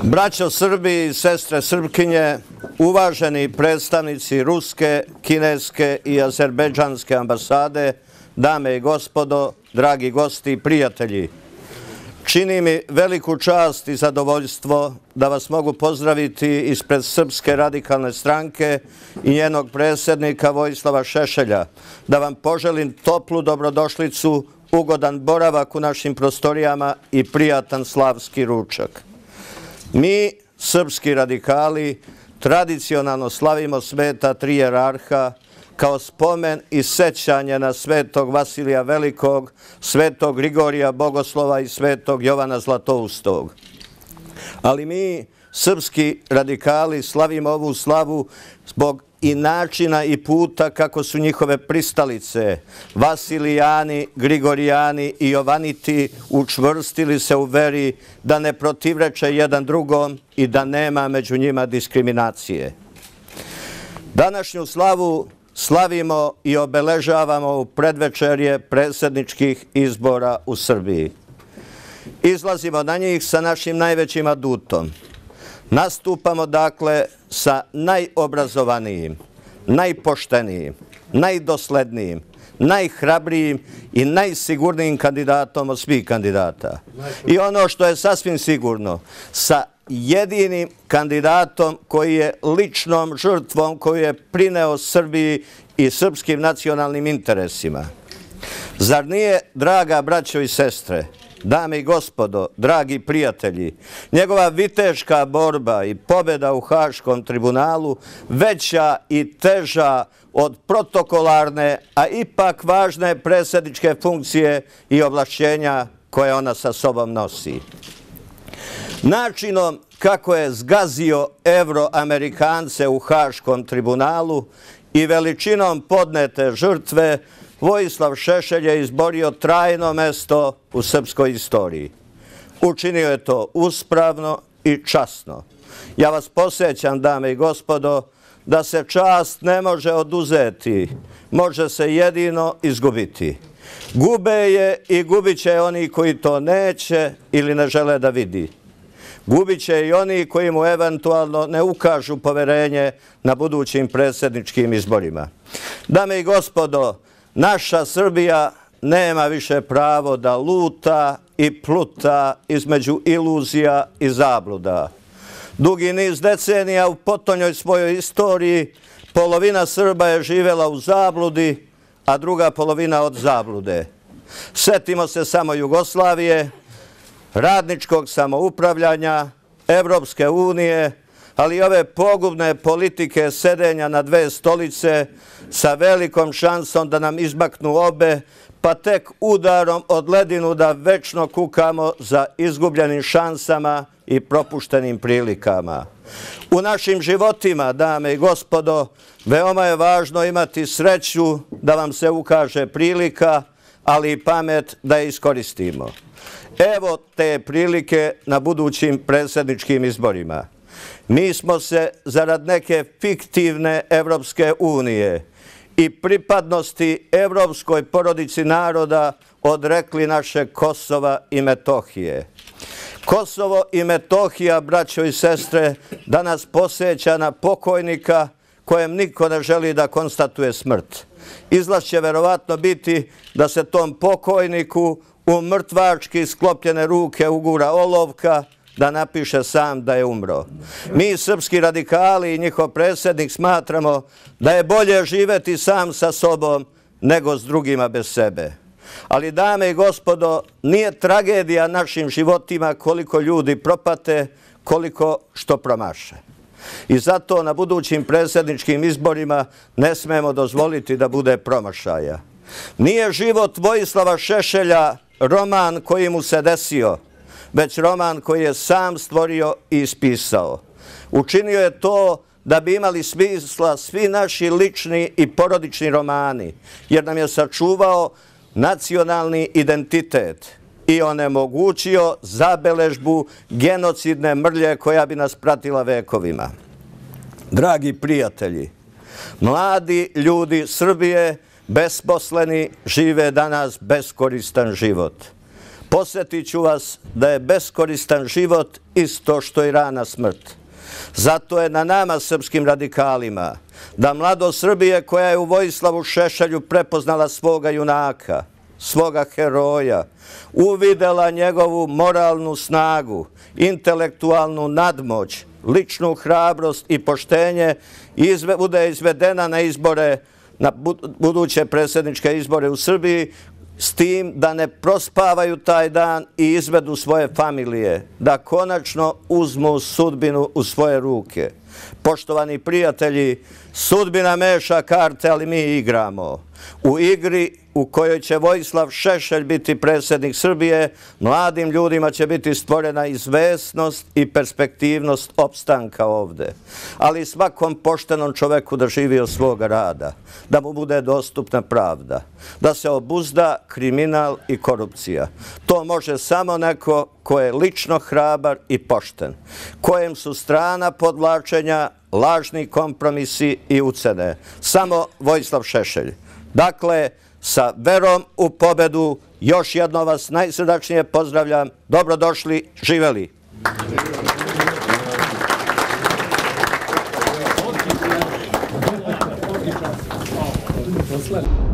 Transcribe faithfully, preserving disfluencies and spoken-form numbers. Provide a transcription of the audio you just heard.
Braćo Srbi i sestre Srpkinje, uvaženi predstavnici ruske, kineske i azerbejdžanske ambasade, dame i gospodo, dragi gosti i prijatelji, čini mi veliku čast i zadovoljstvo da vas mogu pozdraviti ispred Srpske radikalne stranke i njenog predsjednika Vojislava Šešelja, da vam poželim toplu dobrodošlicu, ugodan boravak u našim prostorijama i prijatan slavski ručak. Mi, srpski radikali, tradicionalno slavimo sveta tri jerarha kao spomen i sećanje na svetog Vasilija Velikog, svetog Grigorija Bogoslova i svetog Jovana Zlatoustog. Ali mi, srpski radikali, slavimo ovu slavu zbog i načina i puta kako su njihove pristalice, Vasilijani, Grigorijani i Jovaniti, učvrstili se u veri da ne protivreče jedan drugom i da nema među njima diskriminacije. Današnju slavu slavimo i obeležavamo u predvečerje predsjedničkih izbora u Srbiji. Izlazimo na njih sa našim najvećim adutom. Nastupamo dakle sa najobrazovanijim, najpoštenijim, najdoslednijim, najhrabrijim i najsigurnijim kandidatom od svih kandidata. I ono što je sasvim sigurno, sa jedinim kandidatom koji je ličnom žrtvom koju je prineo Srbiji i srpskim nacionalnim interesima. Zar nije, draga braćo i sestre, dame i gospodo, dragi prijatelji, njegova viteška borba i pobjeda u Haškom tribunalu veća i teža od protokolarne, a ipak važne predsjedničke funkcije i ovlašćenja koje ona sa sobom nosi. Načinom kako je zgazio Evroamerikance u Haškom tribunalu i veličinom podnete žrtve, Vojislav Šešelj je izborio trajno mesto u srpskoj istoriji. Učinio je to uspravno i časno. Ja vas podsjećam, dame i gospodo, da se čast ne može oduzeti, može se jedino izgubiti. Gube je i gubit će oni koji to neće ili ne žele da vidi. Gubit će i oni koji mu eventualno ne ukažu poverenje na budućim predsjedničkim izborima. Dame i gospodo, naša Srbija nema više pravo da luta i pluta između iluzija i zabluda. Dugi niz decenija u potonjoj svojoj istoriji polovina Srba je živjela u zabludi, a druga polovina od zablude. Sjetimo se samo Jugoslavije, radničkog samoupravljanja, Evropske unije, ali i ove pogubne politike sedenja na dve stolice sa velikom šansom da nam izmaknu obe, pa tek udarom od ledinu da večno kukamo za izgubljenim šansama i propuštenim prilikama. U našim životima, dame i gospodo, veoma je važno imati sreću da vam se ukaže prilika, ali i pamet da je iskoristimo. Evo te prilike na budućim predsjedničkim izborima. Mi smo se zarad neke fiktivne Evropske unije i pripadnosti evropskoj porodici naroda odrekli naše Kosova i Metohije. Kosovo i Metohija, braćo i sestre, danas posjeća na pokojnika kojem niko ne želi da konstatuje smrt. Izlaz će verovatno biti da se tom pokojniku u mrtvački sklopljene ruke ugura olovka da napiše sam da je umro. Mi, srpski radikali i njihov predsjednik, smatramo da je bolje živeti sam sa sobom nego s drugima bez sebe. Ali, dame i gospodo, nije tragedija našim životima koliko ljudi propate, koliko što promaše. I zato na budućim predsjedničkim izborima ne smemo dozvoliti da bude promašaja. Nije život Vojislava Šešelja roman koji mu se desio, već roman koji je sam stvorio i ispisao. Učinio je to da bi imali smisla svi naši lični i porodični romani, jer nam je sačuvao nacionalni identitet i onemogućio zabeležbu genocidne mrlje koja bi nas pratila vekovima. Dragi prijatelji, mladi ljudi Srbije, besposleni, žive danas beskoristan život. Podsjetit ću vas da je beskoristan život isto što i rana smrt. Zato je na nama, srpskim radikalima, da mladost Srbije koja je u Vojislavu Šešelju prepoznala svoga junaka, svoga heroja, uvidela njegovu moralnu snagu, intelektualnu nadmoć, ličnu hrabrost i poštenje, bude izvedena na izbore, na buduće predsjedničke izbore u Srbiji, s tim da ne prospavaju taj dan i izvedu svoje familije, da konačno uzmu sudbinu u svoje ruke. Poštovani prijatelji, sudbina meša karte, ali mi igramo. U igri u kojoj će Vojislav Šešelj biti predsjednik Srbije, mladim ljudima će biti stvorena izvesnost i perspektivnost opstanka ovde. Ali svakom poštenom čoveku da živi od svoga rada, da mu bude dostupna pravda, da se obuzda kriminal i korupcija. To može samo neko ko je lično hrabar i pošten, kojem su strana podvlačenja, lažni kompromisi i ucene. Samo Vojislav Šešelj. Dakle, sa verom u pobedu, još jednom vas najsrdačnije pozdravljam. Dobrodošli, živeli! Odlično.